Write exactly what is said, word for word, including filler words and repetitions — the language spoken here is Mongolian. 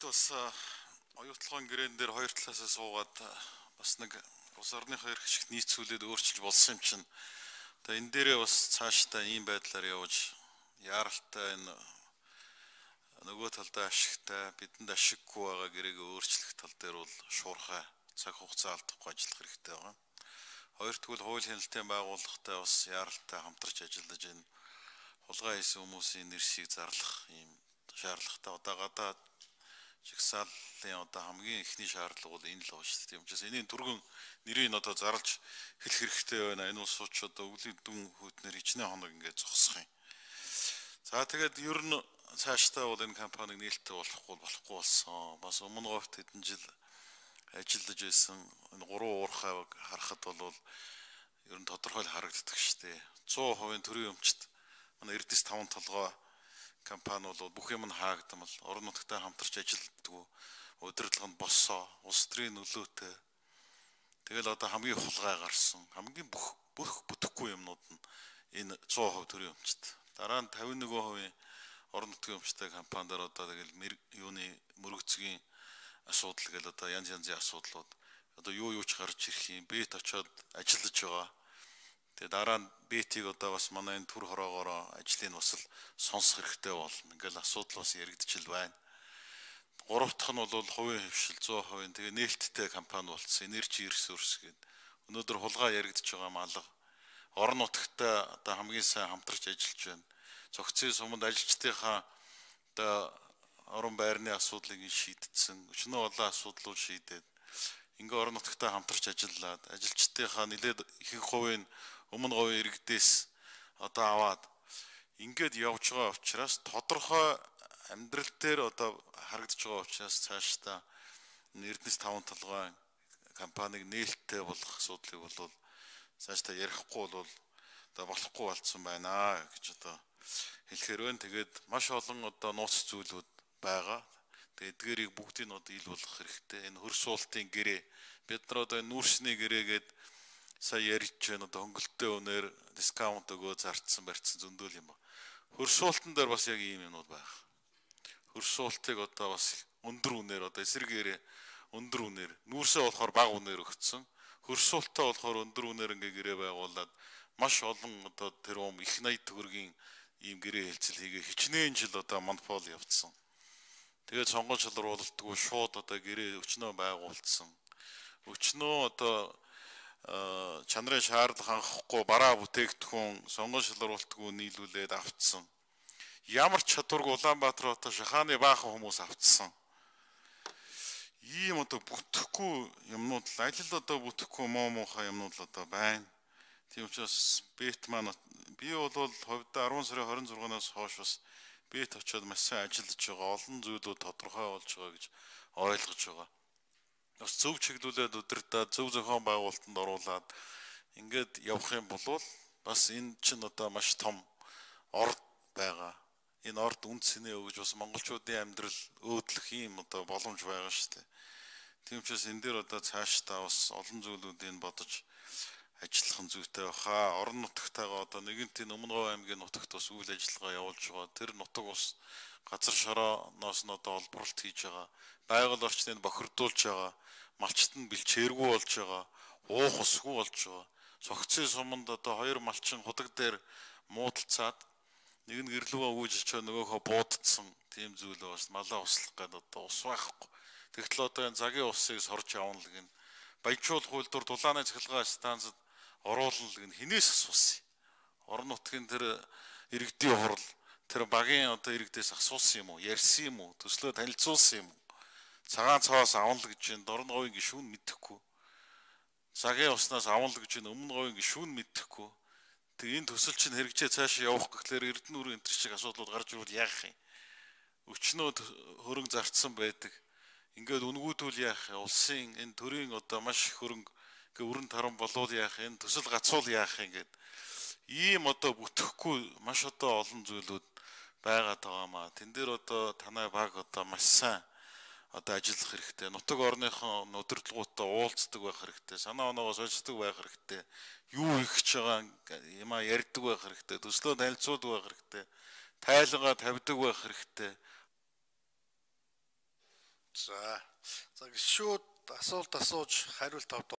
бас оюутлогын гэрээн дээр хоёр талаасаа суугаад бас нэг улс орныхоо эрх ашигт нийцүүлээд өөрчилж болсон юм чинь. Тэгээ энэ дээрээ бас цаашдаа ийм байдлаар явж яаралтай энэ нөгөө талдаа ашигтай бидэнд ашиггүй байгаа гэрээг өөрчлөх тал дээр бол шуурхай цаг хугацаа алдахгүй ажиллах хэрэгтэй байгаа. Хоёр тэгвэл хууль хяналтын байгууллагатай бас яаралтай хамтарч ажиллаж энэ хулгай хийсэн хүмүүсийн нэрсийг зарлах ийм шаардлагатай. Одоо гадаад жигсааллын одоо хамгийн ихний шаардлага бол энэ л байна шүү дээ. Тийм учраас энэний түргэн нэрийг одоо зарлж хэлэх хэрэгтэй байна. Энэ улс суч одоо өвлийн дүн хөтнөр хичнээн хоног ингээд зогсох юм. За тэгээд ер нь цаашдаа бол энэ компаниг нээлттэй болохгүй болохгүй болсон. Бас өмнө говьт хэдэн жил ажиллаж байсан энэ гурван уурхайг харахад бол ер нь тодорхой харагддаг шүү дээ. цаа хувийн төрийн өмчт манай Эрдэс таван толгой компани бол бүх юм нь хаагдмал орон нутгтай хамтарч ажилладаг, удирдлаганд боссоо, улс төрийн нөлөөтэй. Тэгэл одоо хамгийн хулгай гарсан, хамгийн бүх бүх бүтэхгүй юмнууд нь энэ цаа хувь төрийн өмчт. Дараа нь тавин нэг хувийн орон нутгийн өмчтэй компаниар одоо тэгэл юуны мөрөгцгийн асуудал гэл одоо янз янзын асуудлууд одоо юу юу ч гарч ирэх юм, бет очоод ажиллаж байгаа. Тэгээ дараа нь бетийг одоо бас манай энэ төр хороогоор ажлыг бас л сонсох хэрэгтэй болно. Ингээл асуудал бас яригдчихл байна. Гурав дахь нь бол хувийн хөвшил цаа хувийн тэгээ нээлттэй компани болсон. Energy Resource гэдэг. Өнөөдөр хулгай яригдж байгаа малга орон нутгтай одоо хамгийн сайн хамтарч ажиллаж байна. Цогцын суманд ажилчдынхаа одоо орон байрны асуудлыг шийдсэн. Өчнөө олон асуудлууд шийдээд ингээ орон нутгтай хамтарч ажиллаад ажилчдынхаа нэлээд ихэнх хувийн өмнө говийн иргэдээс одоо аваад ингээд явж байгаа учраас тодорхой амьдрал дээр одоо харагдаж байгаа учраас цаашдаа Эрдэнэс таван толгой компаниг нээлттэй болох асуудлыг бол цаашдаа ярихгүй бол одоо болохгүй болцсон байна гэж одоо хэлэхээр байна. Тэгээд маш олон одоо нууц зүйлүүд байгаа. Тэгээд эдгээрийг бүгдийг нь одоо ил болох хэрэгтэй. Энэ хөрс суултын гэрээ бид нар одоо нүүрсний гэрээгээд сая ярьж байна. Одоо хөнгөлөлтөө өнөр дискаунт өгөө зарцсан барьцсан зөндөл юм ба. Хөрс суултан дээр бас яг ийм юмнууд байгаа. Хөрс суултыг одоо бас өндөр үнээр одоо эсрэгээрээ өндөр үнээр нүүрсээ болохоор бага үнээр өгцөн. Хөрс суултаа болохоор өндөр үнээр ингээ гэрээ байгуулад маш олон одоо тэр юм их найд төгрөгийн ийм гэрээ хэлцэл хийгээ хичнээн жил одоо монопол явцсан. Тэгээд сонгон шалруулалтгүй шууд одоо гэрээ өчнөө байгуулсан. Өчнөө одоо чанарын шаардлага хангахгүй бараа бүтээгдэхүүн сонгон шалруулалтгүй нийлүүлээд авцсан. Ямар ч чадваргүй Улаанбаатар хотод шахааны баахан хүмүүс авцсан. Ийм одоо бүтэхгүй юмнууд л аль л одоо бүтэхгүй муу муухай юмнууд л одоо байна. Тийм учраас бет маань би бол хувьдаа арван сарын хорин зургаанаас хойш бас бет очоод маш сайн ажиллаж байгаа. Олон зүйлүүд тодорхой болж байгаа гэж ойлгож байгаа. Бас зөв чиглүүлээд удирдаад зөв зохион байгуулалтанд оруулаад ингээд явах юм бол бас энэ чинь одоо маш том орд байгаа. Энэ орд үнд цэнэ өгж бас монголчуудын амьдрал өөдлөх юм одоо боломж байгаа шүү дээ. Тийм учраас энэ дээр одоо цаашдаа бас олон зүйлүүдийг бодож ажиллах нь зүйтэй баха. Орон нутгатайгаа одоо нэгэнтийн Өмнө Говь аймгийн нутагт бас үйл ажиллагаа явуулж байгаа. Тэр нутаг ус газар шорооноос нь одоо олборлт хийж байгаа. Байгаль орчныг бохирдуулж байгаа. Малчт нь бэлчээргүй болж байгаа. Уух усгүй болж байгаа. Цогцын суманд одоо хоёр малчин худаг дээр муудалцаад нэг нь гэрлүүгээ үүж очоо нөгөөхөө буудцсан тийм зүйл бас малаа услах гэдэг одоо ус байхгүй. Тэгтэл одоо энэ цагийн усыг сорж явна л гин баяжуулах үйлдвэр дулааны цахилгаан станцад оруулна л гин хинээс асуусан. Орон нутгийн тэр иргэдийн хурал тэр багийн одоо иргэдээс асуусан юм уу? Ярьсан юм уу? Төслөө танилцуулсан юм уу? Цагаан цаваас авна л гэж энэ Орон говийн гишүүн мэдэхгүй. Цагийн уснаас авна л гэж энэ Өмнө говийн гишүүн мэдэхгүй. Тэг энэ төсөл чинь хэрэгжээ цаашаа явах гэхлээр Эрдэнэ энэ төр шиг асуудлууд гарч ирвэл яах юм? Өчнөө хөрөнгө зарцсан байдаг. Ингээд үнгүүдүүл яах юм? Улсын энэ төрийн одоо маш хөрөнгө ингээ өрн таран болвол яах юм? Төсөл гацуул яах юм гээд ийм одоо бүтэхгүй маш одоо олон зүйлүүд байгаад байгаа маа. Тэн дээр одоо танай баг одоо маш сайн одоо ажиллах хэрэгтэй. Нутаг орныхон удирдлагуудаа уулздаг байх хэрэгтэй. Санаа оноогоо сольждаг байх хэрэгтэй. Юу их ч байгаа юм а ярьдаг байх хэрэгтэй. Төслөө танилцуулдаг байх хэрэгтэй. Тайлгаа тавьдаг байх хэрэгтэй. За. За шууд асуулт асууж хариулт авах